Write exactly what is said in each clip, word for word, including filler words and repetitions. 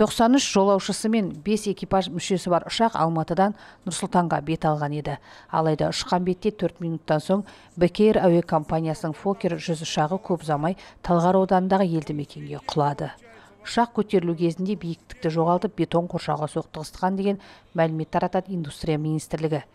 тоқсан үш жолаушысы мен бес экипаж мүшесі бар ұшақ Алматыдан Нұр-Сұлтанға бет алған еді. Алайда ұшқан бетте төрт минуттан соң бек эйр әуе компаниясының Фоккер жүз ұшағы көп ұзамай Талғар ауданындағы елді мекенге құлады. Ұшақ көтерілу кезінде биіктікті жоғалтып бетон қоршауға соқтығысқан деген мәлімет таратады Индустрия министрлігі.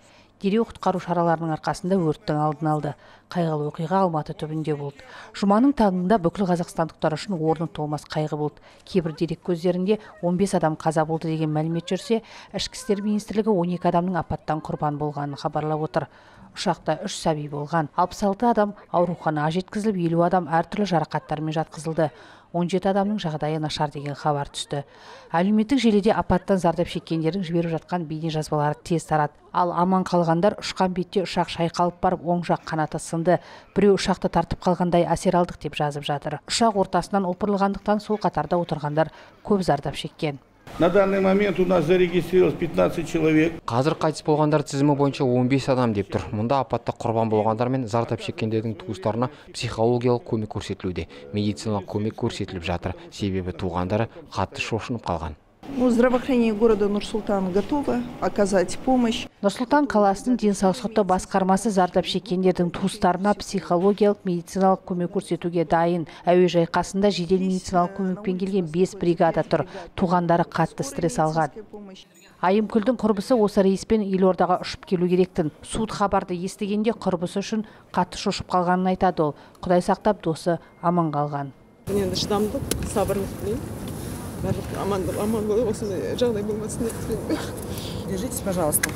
Дереу құтқару шараларының арқасында өрттің алдын алды. Қайғылы оқиға Алматы түбінде болды. Жұманың таңында бүкіл қазақстандықтар үшін орны толмас қайғы болды. Кейбір дерек көздерінде он бес адам қаза болды деген мәлімет жүрсе, Ішкі істер министрлігі он екі адамның апаттан құрбан болғанын хабарлап отыр. Ұшақта үш сәби болған. алпыс алты адам ауруханаға жеткізіліп, елу адам әртүрлі жарақаттармен жатқызылды. он жеті адамның жағдайы нашар деген хабар түсті. Әлеуметтік желіде апаттан зардап шеккендердің жіберіп жатқан бейне жазбалары тез тарады. Ал аман қалғандар ұшқан бетте ұшақ шайқалып барып, оң жақ қанаты сынды. Біреу ұшақты тартып қалғандай әсер алдық деп жазып жатыр. Ұшақ ортасынан опырылғандықтан сол қатарда отырғандар көп зардап шеккен. На данный момент у нас зарегистрировалось пятнадцать человек. Қазір қайтыс болғандар тізімі бойынша он бес адам деп тұр. Мұнда апатта құрбан болғандар мен зардап шеккендердің туыстарына психологиялық көмек көрсетілуде. Медициналық көмек көрсетіліп жатыр. Себебі туғандары қатты шошынып қалған. Здравоохранение города Нур-Султан готово оказать помощь. Нұр-Сұлтан қаласының денсаулық сақтау басқармасы зардап шеккендердің туыстарына психологиялық медициналық көмек көрсетуге дайын. Әуежай қасында жедел медициналық көмекпен келген бес бригада тұр. Туғандары қатты стресс алған. Айымкүлдің құрбысы осы рейспен елордаға ұшып келу керектін. Суыт хабарды естігенде құрбысы үшін қатты шошып қалғанын айтады ол. Құдай сақтап, досы аман қалған. Енді шыдамдық, сабырлық тілеймін. Аман болып, осындай жағдай болмасын деп тілеймін. Держитесь, пожалуйста.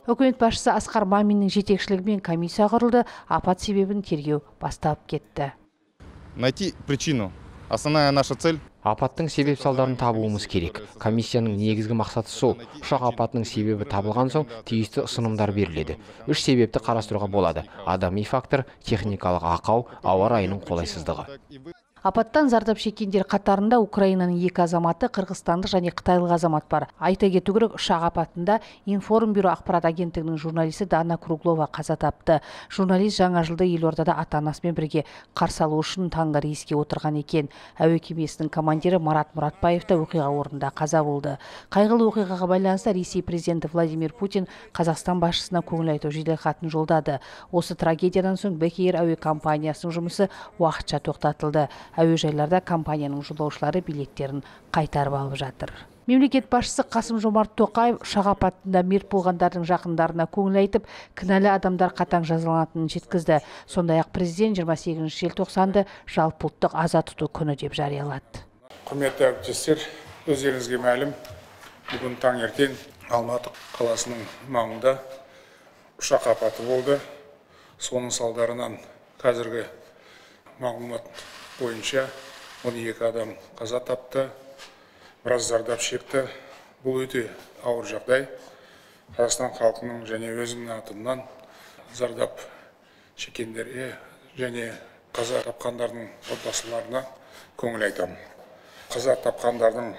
Үкімет басшысы Асқар Маминнің жетекшілігімен комиссия құрылды, апат себебін тергеу басталып кетті. Найти причину. Основная наша цель. Апаттың себеп салдарын табуымыз керек. Комиссияның негізгі мақсаты сол. Ұшақ апатының себебі табылған соң тиісті ұсынымдар беріледі. Үш себепті қарастыруға болады. Адами фактор, техникалық ақау, ауа райының қолайсыздығы. Апаттан зардап шеккендер қатарында Украинаның екі азаматы, қырғызстандық және қытайлық азамат бар. Айта кету керек, ұшақ апатында Информбюро ақпарат агенттігінің журналисі Дана Круглова қаза тапты. Журналист жаңа жылды елордада ата-анасымен бірге қарсы алу үшін таңғы рейске отырған екен. Әуе кемесінің командирі Марат Мұратбаев та оқиға орнында қаза болды. Қайғылы оқиғаға байланысты Ресей президенті Владимир Путин Қазақстан басшысына көңіл айту жеделхатын жолдады. Осы трагедиядан соң бек эйр әуе компаниясының жұмысы уақытша тоқтатылды. Әуежайларда компанияның жолаушылары билеттерін қайтарып алып жатыр. Мемлекет басшысы Қасым-Жомарт Тоқаев ұшақ апатында мерт болғандардың жақындарына көңіл айтып, кінәлі адамдар қатаң жазаланатынын жеткізді. Сондай-ақ президент жиырма сегізінші желтоқсанды жалпыұлттық аза тұту күні деп жариялады. Құрметті әріптестер, өздеріңізге мәлім, бүгін таңертең Алматы қаласының маңында ұшақ апаты болды. Соның салдарынан қазіргі мағлұмат бойынша он екі адам қаза тапты, біраз зардап шекті. Бұл өте ауыр жағдай. Қазақстан халқының және өзімнің атымнан зардап шеккендерге және қаза тапқандардың отбасыларына көңіл айтамын. Қаза тапқандардың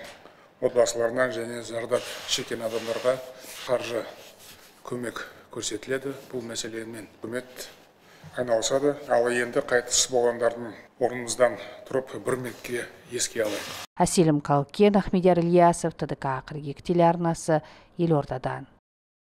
отбасыларына және зардап шеккен адамдарға қаржы көмек көрсетіледі. Бұл мәселемен үкімет айналысады. Ал енді қайтыс болғандардың орнымыздан тұрып бір минутке еске алайық. Әселім Қалкен, Ахмедияр Ильясов, Т Д К қырық екі телеарнасы, Елордадан.